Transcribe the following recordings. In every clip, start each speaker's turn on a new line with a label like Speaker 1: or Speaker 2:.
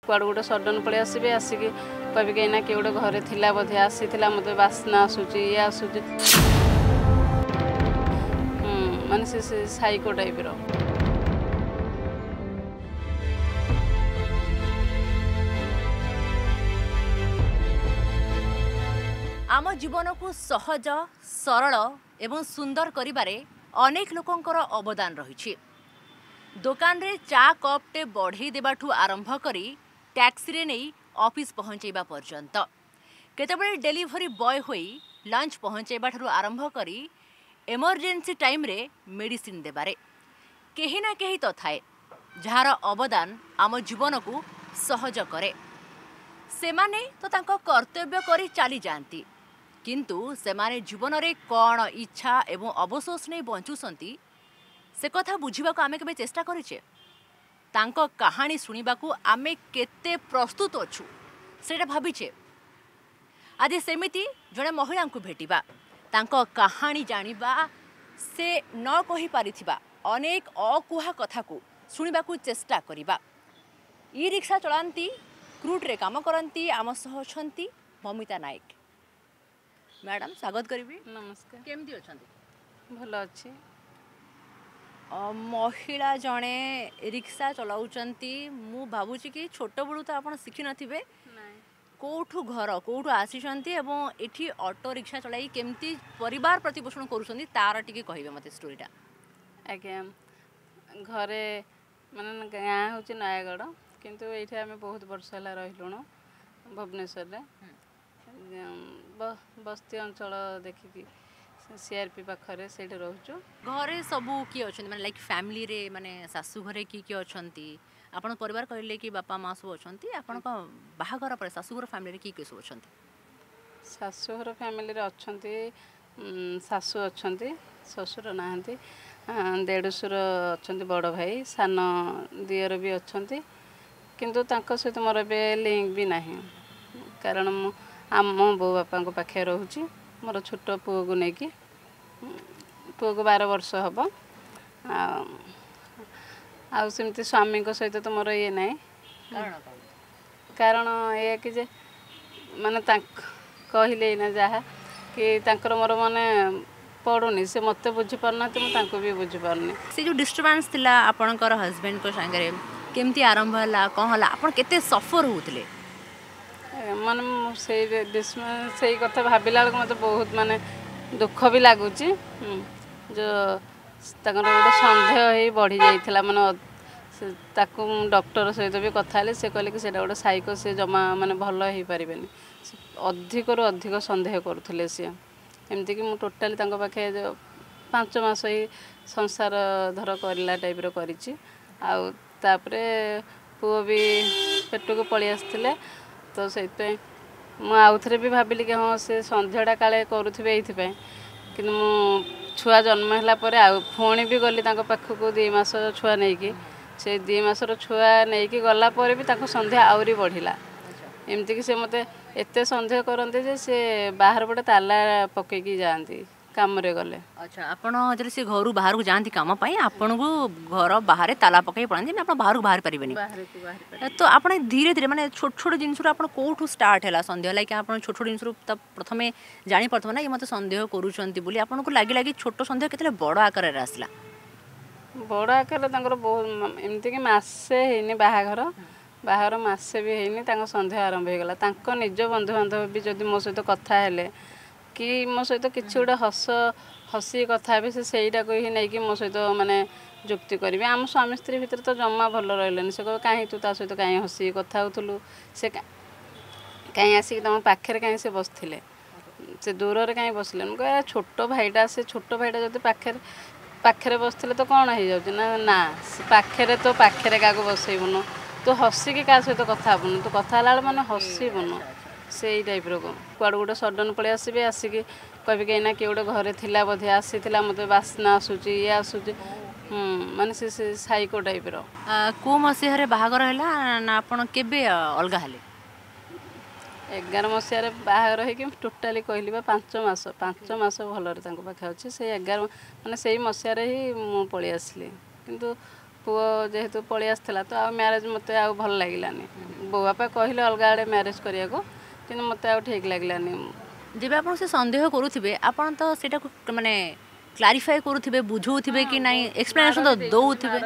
Speaker 1: କୁଆଡ଼ୁ ଗୋଟେ ସଡ଼ନ୍ ପଳେଇ ଆସିବେ, ଆସିକି କହିବେ କି ଏଇନା କିଏ ଗୋଟେ ଘରେ ଥିଲା ବୋଧେ, ଆସିଥିଲା, ମୋତେ ବାସ୍ନା ଆସୁଛି, ଇଏ ଆସୁଛି, ମାନେ ସେ ସାଇକୋ ଟାଇପ୍ର।
Speaker 2: ଆମ ଜୀବନକୁ ସହଜ, ସରଳ ଏବଂ ସୁନ୍ଦର କରିବାରେ ଅନେକ ଲୋକଙ୍କର ଅବଦାନ ରହିଛି। ଦୋକାନରେ ଚା କପ୍ଟେ ବଢ଼େଇ ଦେବାଠୁ ଆରମ୍ଭ କରି ଟ୍ୟାକ୍ସିରେ ନେଇ ଅଫିସ୍ ପହଞ୍ଚାଇବା ପର୍ଯ୍ୟନ୍ତ, କେତେବେଳେ ଡେଲିଭରି ବୟ ହୋଇ ଲଞ୍ଚ ପହଞ୍ଚାଇବା ଠାରୁ ଆରମ୍ଭ କରି ଏମର୍ଜେନ୍ସି ଟାଇମ୍ରେ ମେଡ଼ିସିନ ଦେବାରେ କେହି ନା କେହି ତ ଥାଏ ଯାହାର ଅବଦାନ ଆମ ଜୀବନକୁ ସହଜ କରେ। ସେମାନେ ତ ତାଙ୍କ କର୍ତ୍ତବ୍ୟ କରି ଚାଲିଯାଆନ୍ତି, କିନ୍ତୁ ସେମାନେ ଜୀବନରେ କ'ଣ ଇଚ୍ଛା ଏବଂ ଅବସୋସ ନେଇ ବଞ୍ଚୁଛନ୍ତି ସେ କଥା ବୁଝିବାକୁ ଆମେ କେବେ ଚେଷ୍ଟା କରିଛେ? ତାଙ୍କ କାହାଣୀ ଶୁଣିବାକୁ ଆମେ କେତେ ପ୍ରସ୍ତୁତ ଅଛୁ ସେଇଟା ଭାବିଛେ? ଆଜି ସେମିତି ଜଣେ ମହିଳାଙ୍କୁ ଭେଟିବା, ତାଙ୍କ କାହାଣୀ ଜାଣିବା, ସେ ନ କହିପାରିଥିବା ଅନେକ ଅକୁହା କଥାକୁ ଶୁଣିବାକୁ ଚେଷ୍ଟା କରିବା। ଇ ରିକ୍ସା ଚଳାନ୍ତି, କ୍ରୁଟ୍ରେ କାମ କରନ୍ତି, ଆମ ସହ ଅଛନ୍ତି ମମିତା ନାୟକ। ମ୍ୟାଡ଼ାମ୍, ସ୍ୱାଗତ କରିବି।
Speaker 1: ନମସ୍କାର।
Speaker 2: କେମିତି ଅଛନ୍ତି?
Speaker 1: ଭଲ ଅଛି।
Speaker 2: ମହିଳା ଜଣେ ରିକ୍ସା ଚଲାଉଛନ୍ତି, ମୁଁ ଭାବୁଛି କି ଛୋଟବେଳୁ ତ ଆପଣ ଶିଖିନଥିବେ। କେଉଁଠୁ ଘର, କେଉଁଠୁ ଆସିଛନ୍ତି ଏବଂ ଏଠି ଅଟୋ ରିକ୍ସା ଚଳାଇ କେମିତି ପରିବାର ପ୍ରତିପୋଷଣ କରୁଛନ୍ତି ତାର ଟିକେ କହିବେ ମୋତେ ଷ୍ଟୋରିଟା।
Speaker 1: ଆଜ୍ଞା, ଘରେ ମାନେ ଗାଁ ହେଉଛି ନୟାଗଡ଼, କିନ୍ତୁ ଏଇଠି ଆମେ ବହୁତ ବର୍ଷ ହେଲା ରହିଲୁଣୁ ଭୁବନେଶ୍ୱରରେ, ବସ୍ତି ଅଞ୍ଚଳ ଦେଖିକି ସିଆର୍ପି ପାଖରେ ସେଇଠି ରହୁଛୁ।
Speaker 2: ଘରେ ସବୁ କିଏ ଅଛନ୍ତି? ମାନେ ଲାଇକ୍ ଫ୍ୟାମିଲିରେ, ମାନେ ଶାଶୁ ଘରେ କିଏ କିଏ ଅଛନ୍ତି? ଆପଣ ପରିବାର କହିଲେ କି ବାପା ମା ସବୁ ଅଛନ୍ତି, ଆପଣଙ୍କ ବାହାଘର ପରେ ଶାଶୁଘର ଫ୍ୟାମିଲିରେ କିଏ କିଏ ସବୁ ଅଛନ୍ତି?
Speaker 1: ଶାଶୁଘର ଫ୍ୟାମିଲିରେ ଅଛନ୍ତି ଶାଶୁ ଅଛନ୍ତି, ଶ୍ୱଶୁର ନାହାନ୍ତି, ଦେଢ଼ଶୁର ଅଛନ୍ତି, ବଡ଼ ଭାଇ, ସାନ ଦିଅର ବି ଅଛନ୍ତି, କିନ୍ତୁ ତାଙ୍କ ସହିତ ମୋର ଏବେ ଲିଙ୍କ ବି ନାହିଁ, କାରଣ ମୁଁ ଆମ ବୋଉ ବାପାଙ୍କ ପାଖରେ ରହୁଛି ମୋର ଛୋଟ ପୁଅକୁ ନେଇକି। ପୁଅକୁ 12 ବର୍ଷ ହେବ। ଆଉ ସେମିତି ସ୍ୱାମୀଙ୍କ ସହିତ ତ ମୋର ଇଏ ନାହିଁ। କାରଣ ଏଇଆ କି ଯେ ମାନେ ତାଙ୍କ କହିଲେ ଏଇନା ଯାହା କି ତାଙ୍କର ମୋର ମାନେ ପଡ଼ୁନି, ସେ ମୋତେ ବୁଝିପାରୁନାହାନ୍ତି, ମୁଁ ତାଙ୍କୁ ବି ବୁଝିପାରୁନି।
Speaker 2: ସେ ଯେଉଁ ଡିଷ୍ଟର୍ବାନ୍ସ ଥିଲା ଆପଣଙ୍କର ହଜବେଣ୍ଡଙ୍କ ସାଙ୍ଗରେ, କେମିତି ଆରମ୍ଭ ହେଲା, କ'ଣ ହେଲା, ଆପଣ କେତେ ସଫର ହେଉଥିଲେ?
Speaker 1: ମାନେ ମୁଁ ସେଇ ସେଇ କଥା ଭାବିଲା ବେଳକୁ ମୋତେ ବହୁତ ମାନେ ଦୁଃଖ ବି ଲାଗୁଛି। ଯେଉଁ ତାଙ୍କର ଗୋଟେ ସନ୍ଦେହ ହେଇ ବଢ଼ି ଯାଇଥିଲା, ମାନେ ତାକୁ ମୁଁ ଡକ୍ଟର ସହିତ ବି କଥା ହେଲି, ସେ କହିଲେ କି ସେଇଟା ଗୋଟେ ସାଇକୋ, ସେ ଜମା ମାନେ ଭଲ ହେଇପାରିବେନି, ଅଧିକରୁ ଅଧିକ ସନ୍ଦେହ କରୁଥିଲେ ସିଏ। ଏମିତିକି ମୁଁ ଟୋଟାଲି ତାଙ୍କ ପାଖେ 5 ମାସ ହିଁ ସଂସାର ଧର କରିଲା ଟାଇପ୍ର କରିଛି। ଆଉ ତାପରେ ପୁଅ ବି ପେଟକୁ ପଳେଇ ଆସିଥିଲେ, ତ ସେଇଥିପାଇଁ ମୁଁ ଆଉଥରେ ବି ଭାବିଲି କି ହଁ ସେ ସନ୍ଦେହଟା କାଳେ କରୁଥିବେ ଏଇଥିପାଇଁ। କିନ୍ତୁ ମୁଁ ଛୁଆ ଜନ୍ମ ହେଲା ପରେ ଆଉ ପୁଣି ବି ଗଲି ତାଙ୍କ ପାଖକୁ 2 ମାସ ଛୁଆ ନେଇକି, ସେ 2 ମାସର ଛୁଆ ନେଇକି ଗଲା ପରେ ବି ତାଙ୍କ ସନ୍ଦେହ ଆହୁରି ବଢ଼ିଲା। ଏମିତିକି ସେ ମୋତେ ଏତେ ସନ୍ଦେହ କରନ୍ତି ଯେ ସେ ବାହାର ପଟେ ତାଲା ପକେଇକି ଯାଆନ୍ତି କାମରେ ଗଲେ।
Speaker 2: ଆଚ୍ଛା, ଆପଣ ଯେତେବେଳେ ସେ ଘରୁ ବାହାରକୁ ଯାଆନ୍ତି କାମ ପାଇଁ, ଆପଣଙ୍କୁ ଘର ବାହାରେ ତାଲା ପକେଇ ପଳାନ୍ତି ନା ଆପଣ ବାହାରକୁ ବାହାରି ପାରିବେନି? ତ ଆପଣ ଧୀରେ ଧୀରେ ମାନେ ଛୋଟ ଛୋଟ ଜିନିଷରୁ ଆପଣ କେଉଁଠୁ ଷ୍ଟାର୍ଟ ହେଲା ସନ୍ଦେହ? ଲାଇକ୍ ଆପଣ ଛୋଟ ଛୋଟ ଜିନିଷରୁ ତ ପ୍ରଥମେ ଜାଣିପାରୁଥିବେ ନା ଇଏ ମୋତେ ସନ୍ଦେହ କରୁଛନ୍ତି ବୋଲି, ଆପଣଙ୍କୁ ଲାଗି ଲାଗି ଛୋଟ ସନ୍ଦେହ କେତେବେଳେ ବଡ଼ ଆକାରରେ ଆସିଲା?
Speaker 1: ବଡ଼ ଆକାରରେ ତାଙ୍କର ବହୁତ, ଏମିତିକି ମାସେ ହେଇନି ବାହାଘର, ବାହାଘର ମାସେ ବି ହେଇନି ତାଙ୍କ ସନ୍ଦେହ ଆରମ୍ଭ ହେଇଗଲା। ତାଙ୍କ ନିଜ ବନ୍ଧୁବାନ୍ଧବ ବି ଯଦି ମୋ ସହିତ କଥା ହେଲେ କି ମୋ ସହିତ କିଛି ଗୋଟେ ହସ ହସି କଥା ହେବେ, ସେ ସେଇଟାକୁ ହିଁ ନେଇକି ମୋ ସହିତ ମାନେ ଯୁକ୍ତି କରିବେ। ଆମ ସ୍ୱାମୀ ସ୍ତ୍ରୀ ଭିତରେ ତ ଜମା ଭଲ ରହିଲେନି। ସେ କହିବେ କାହିଁ ତୁ ତା ସହିତ କାହିଁ ହସିକି କଥା ହେଉଥିଲୁ, ସେ କାହିଁ ଆସିକି ତୁମ ପାଖରେ କାହିଁ ସେ ବସିଥିଲେ, ସେ ଦୂରରେ କାହିଁ ବସିଲେ? ମୁଁ କହେ ଛୋଟ ଭାଇଟା, ସେ ଛୋଟ ଭାଇଟା ଯଦି ପାଖରେ ପାଖରେ ବସିଥିଲେ ତ କ'ଣ ହେଇଯାଉଛି? ନା ନା, ସେ ପାଖରେ ତୋ ପାଖରେ କାହାକୁ ବସେଇବୁନୁ, ତୁ ହସିକି କାହା ସହିତ କଥା ହେବୁନୁ, ତୁ କଥା ହେଲା ବେଳେ ମାନେ ହସିବୁନୁ, ସେଇ ଟାଇପ୍ର। କୁଆଡ଼ୁ ଗୋଟେ ସଡ଼ନ୍ ପଳେଇ ଆସିବେ, ଆସିକି କହିବେ କି ଏଇନା କିଏ ଗୋଟେ ଘରେ ଥିଲା ବୋଧେ, ଆସିଥିଲା, ମୋତେ ବାସ୍ନା ଆସୁଛି, ଇଏ ଆସୁଛି, ମାନେ ସେ ସାଇକୋ ଟାଇପ୍ର।
Speaker 2: କେଉଁ ମସିହାରେ ବାହାଘର ହେଲା ନା ଆପଣ କେବେ ଅଲଗା ହେଲେ?
Speaker 1: 11 ମସିହାରେ ବାହାଘର ହେଇକି ଟୋଟାଲି କହିଲି ବା 5 ମାସ, 5 ମାସ ଭଲରେ ତାଙ୍କ ପାଖେ ଅଛି। ସେଇ 11 ମାନେ ସେଇ ମସିହାରେ ହିଁ ମୁଁ ପଳେଇ ଆସିଲି, କିନ୍ତୁ ପୁଅ ଯେହେତୁ ପଳେଇ ଆସିଥିଲା ତ ଆଉ ମ୍ୟାରେଜ୍ ମୋତେ ଆଉ ଭଲ ଲାଗିଲାନି। ବୋଉ ବାପା କହିଲେ ଅଲଗା ଆଡ଼େ ମ୍ୟାରେଜ୍ କରିବାକୁ, କିନ୍ତୁ ମୋତେ ଆଉ ଠିକ୍ ଲାଗିଲାନି।
Speaker 2: ଯେବେ ଆପଣ ସେ ସନ୍ଦେହ କରୁଥିବେ, ଆପଣ ତ ସେଇଟାକୁ ମାନେ କ୍ଲାରିଫାଏ କରୁଥିବେ, ବୁଝଉଥିବେ କି ନାଇଁ, ଏକ୍ସପ୍ଲେନେସନ୍ ତ ଦଉଥିବେ?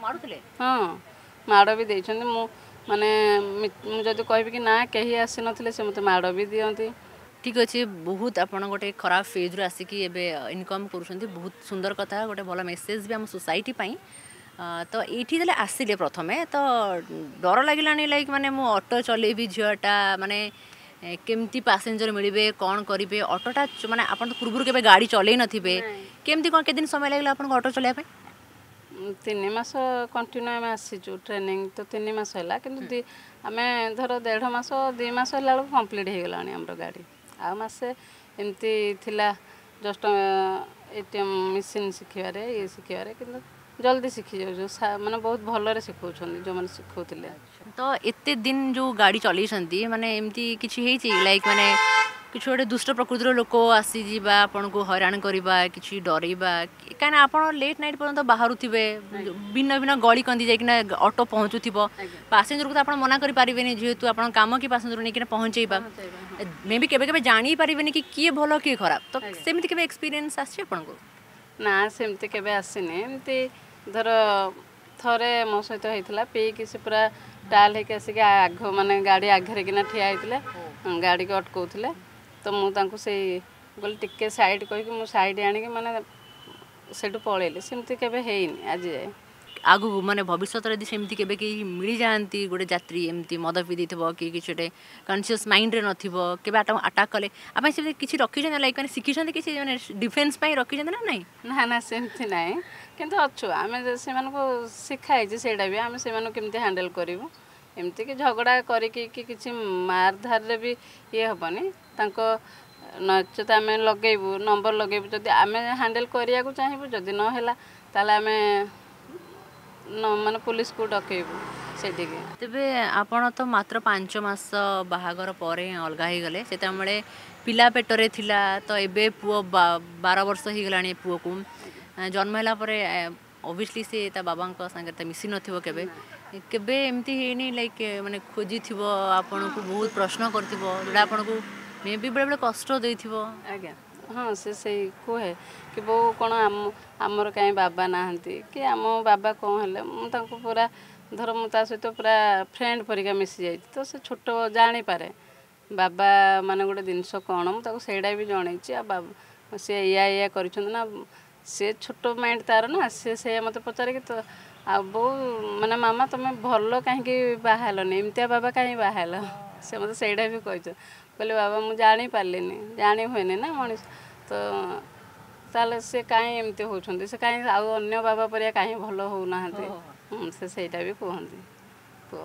Speaker 2: ମାରୁଥିଲେ?
Speaker 1: ହଁ, ମାଡ଼ ବି ଦେଇଛନ୍ତି। ମୁଁ ମାନେ ମୁଁ ଯଦି କହିବି କି ନା କେହି ଆସିନଥିଲେ, ସେ ମୋତେ ମାଡ଼ ବି ଦିଅନ୍ତି।
Speaker 2: ଠିକ୍ ଅଛି, ବହୁତ ଆପଣ ଗୋଟେ ଖରାପ ଫେଜ୍ରୁ ଆସିକି ଏବେ ଇନକମ୍ କରୁଛନ୍ତି, ବହୁତ ସୁନ୍ଦର କଥା, ଗୋଟେ ଭଲ ମେସେଜ୍ ବି ଆମ ସୋସାଇଟି ପାଇଁ। ତ ଏଇଠି ଯେତେବେଳେ ଆସିଲେ ପ୍ରଥମେ ତ ଡର ଲାଗିଲାନି, ଲାଇକ୍ ମାନେ ମୁଁ ଅଟୋ ଚଲେଇବି, ଝିଅଟା, ମାନେ କେମିତି ପାସେଞ୍ଜର ମିଳିବେ, କ'ଣ କରିବେ ଅଟୋଟା, ମାନେ ଆପଣ ତ ପୂର୍ବରୁ କେବେ ଗାଡ଼ି ଚଲେଇ ନଥିବେ, କେମିତି କ'ଣ, କେତେ ଦିନ ସମୟ ଲାଗିଲା ଆପଣଙ୍କୁ ଅଟୋ ଚଲେଇବା ପାଇଁ?
Speaker 1: 3 ମାସ କଣ୍ଟିନ୍ୟୁ ଆମେ ଆସିଛୁ, ଟ୍ରେନିଂ ତ 3 ମାସ ହେଲା, କିନ୍ତୁ ଆମେ ଧର 1.5 ମାସ 2 ମାସ ହେଲା ବେଳକୁ କମ୍ପ୍ଲିଟ୍ ହେଇଗଲାଣି ଆମର ଗାଡ଼ି। ଆଉ ମାସେ ଏମିତି ଥିଲା ଜଷ୍ଟ ATM machine ଶିଖିବାରେ, ଇଏ ଶିଖିବାରେ, କିନ୍ତୁ ଜଲ୍ଦି ଶିଖି ଯାଉଛୁ, ମାନେ ବହୁତ ଭଲରେ ଶିଖଉଛନ୍ତି ଯେଉଁମାନେ ଶିଖଉଥିଲେ।
Speaker 2: ତ ଏତେ ଦିନ ଯେଉଁ ଗାଡ଼ି ଚଲେଇଛନ୍ତି, ମାନେ ଏମିତି କିଛି ହେଇଛି, ଲାଇକ୍ ମାନେ କିଛି ଗୋଟେ ଦୁଷ୍ଟ ପ୍ରକୃତିର ଲୋକ ଆସିଯିବା, ଆପଣଙ୍କୁ ହଇରାଣ କରିବା, କିଛି ଡରେଇବା? କାହିଁକିନା ଆପଣ ଲେଟ୍ ନାଇଟ୍ ପର୍ଯ୍ୟନ୍ତ ବାହାରୁଥିବେ, ଭିନ୍ନ ଭିନ୍ନ ଗଳି କନ୍ଦି ଯାଇକିନା ଅଟୋ ପହଞ୍ଚୁଥିବ, ପାସେଞ୍ଜରକୁ ତ ଆପଣ ମନା କରିପାରିବେନି, ଯେହେତୁ ଆପଣ କାମ କି ପାସେଞ୍ଜର ନେଇକିନା ପହଞ୍ଚେଇବା, ମେ ବି କେବେ କେବେ ଜାଣି ପାରିବେନି କି କିଏ ଭଲ କିଏ ଖରାପ, ତ ସେମିତି କେବେ ଏକ୍ସପିରିଏନ୍ସ ଆସିଛି ଆପଣଙ୍କୁ?
Speaker 1: ନା, ସେମିତି କେବେ ଆସିନି। ଏମିତି ଧର ଥରେ ମୋ ସହିତ ହେଇଥିଲା, ପିଇକି ସେ ପୁରା ଟାଲ ହେଇକି ଆସିକି ଆଘ ମାନେ ଗାଡ଼ି ଆଗରେ କିନା ଠିଆ ହେଇଥିଲେ, ଗାଡ଼ିକି ଅଟକଉଥିଲେ। ତ ମୁଁ ତାଙ୍କୁ ସେଇ କହିଲି ଟିକେ ସାଇଡ଼୍ କହିକି ମୁଁ ସାଇଡ଼୍ ଆଣିକି ମାନେ ସେଇଠୁ ପଳେଇଲି। ସେମିତି କେବେ ହେଇନି ଆଜି ଯାଏ।
Speaker 2: ଆଗକୁ ମାନେ ଭବିଷ୍ୟତରେ ଯଦି ସେମିତି କେବେ କେହି ମିଳିଯାଆନ୍ତି, ଗୋଟେ ଯାତ୍ରୀ ଏମିତି ମଦ ପିଇ ଦେଇଥିବ କି କିଛି ଗୋଟେ କନସିୟସ୍ ମାଇଣ୍ଡରେ ନଥିବ, କେବେ ଆଟାକ୍ କଲେ ଆପଣ ସେମିତି କିଛି ରଖିଛନ୍ତି, ଲାଇକ୍ ମାନେ ଶିଖିଛନ୍ତି କିଛି, ମାନେ ଡିଫେନ୍ସ ପାଇଁ ରଖିଛନ୍ତି ନା ନାହିଁ?
Speaker 1: ନା ନା, ସେମିତି ନାହିଁ, କିନ୍ତୁ ଅଛୁ ଆମେ, ସେମାନଙ୍କୁ ଶିଖା ହେଇଛି ସେଇଟା ବି, ଆମେ ସେମାନଙ୍କୁ କେମିତି ହ୍ୟାଣ୍ଡେଲ୍ କରିବୁ। ଏମିତିକି ଝଗଡ଼ା କରିକି କି କିଛି ମାରଧାରରେ ବି ଇଏ ହେବନି ତାଙ୍କ, ନଚେତ ଆମେ ଲଗେଇବୁ ନମ୍ବର ଲଗେଇବୁ। ଯଦି ଆମେ ହ୍ୟାଣ୍ଡେଲ୍ କରିବାକୁ ଚାହିଁବୁ, ଯଦି ନହେଲା ତାହେଲେ ଆମେ ମାନେ ପୋଲିସକୁ ଡକେଇବୁ ସେଇଠିକି।
Speaker 2: ତେବେ ଆପଣ ତ ମାତ୍ର 5 ମାସ ବାହାଘର ପରେ ଅଲଗା ହେଇଗଲେ, ସେତେବେଳେ ପିଲା ପେଟରେ ଥିଲା, ତ ଏବେ ପୁଅ 12 ବର୍ଷ ହେଇଗଲାଣି। ପୁଅକୁ ଜନ୍ମ ହେଲା ପରେ ଅବଭିୟସଲି ସେ ତା ବାବାଙ୍କ ସାଙ୍ଗରେ ତ ମିଶି ନଥିବ କେବେ। କେବେ ଏମିତି ହେଇନି, ଲାଇକ୍ ମାନେ ଖୋଜିଥିବ ଆପଣଙ୍କୁ, ବହୁତ ପ୍ରଶ୍ନ କରିଥିବ, ଯେଉଁଟା ଆପଣଙ୍କୁ ମେ ବି ବେଳେବେଳେ କଷ୍ଟ ଦେଇଥିବ?
Speaker 1: ଆଜ୍ଞା ହଁ, ସେ ସେଇ କୁହେ କି ବୋଉ କ'ଣ ଆମ ଆମର କାହିଁ ବାବା ନାହାନ୍ତି, କି ଆମ ବାବା କ'ଣ ହେଲେ। ମୁଁ ତାଙ୍କୁ ପୁରା ଧର ମୁଁ ତା ସହିତ ପୁରା ଫ୍ରେଣ୍ଡ ପରିକା ମିଶି ଯାଇଛି, ତ ସେ ଛୋଟ ଜାଣିପାରେ ବାବା ମାନେ ଗୋଟେ ଜିନିଷ କ'ଣ। ମୁଁ ତାକୁ ସେଇଟା ବି ଜଣେଇଛି, ଆଉ ସେ ଏଇଆ ଏଇଆ କରିଛନ୍ତି ନା, ସେ ଛୋଟ ମାଇଣ୍ଡ ତାର ନା, ସେ ସେଇଆ ମୋତେ ପଚାରେ କି ତ ଆଉ ବୋଉ ମାନେ ମାମା ତୁମେ ଭଲ କାହିଁକି ବାହା ହେଲନି, ଏମିତିଆ ବାବା କାହିଁକି ବାହା ହେଲ? ସେ ମୋତେ ସେଇଟା ବି କହିଛ। କହିଲେ ବାବା ମୁଁ ଜାଣିପାରିଲିନି, ଜାଣି ହୁଏନି ନା ମଣିଷ ତ, ତାହେଲେ ସେ କାହିଁ ଏମିତି ହେଉଛନ୍ତି, ସେ କାହିଁ ଆଉ ଅନ୍ୟ ବାବା ପରିକା କାହିଁ ଭଲ ହେଉନାହାନ୍ତି, ସେ ସେଇଟା ବି କୁହନ୍ତି ପୁଅ।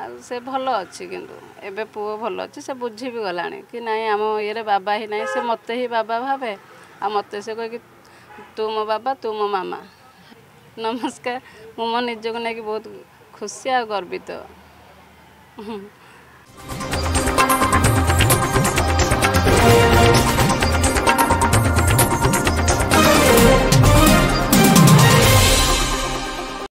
Speaker 1: ଆଉ ସେ ଭଲ ଅଛି, କିନ୍ତୁ ଏବେ ପୁଅ ଭଲ ଅଛି, ସେ ବୁଝି ବି ଗଲାଣି କି ନାଇଁ ଆମ ଇଏରେ ବାବା ହିଁ ନାହିଁ, ସେ ମୋତେ ହିଁ ବାବା ଭାବେ, ଆଉ ମୋତେ ସେ କହିକି ତୁ ମୋ ବାବା, ତୁ ମୋ ମାମା। ନମସ୍କାର, ମୁଁ ମୋ ନିଜକୁ ନେଇକି ବହୁତ ଖୁସି ଆଉ ଗର୍ବିତ।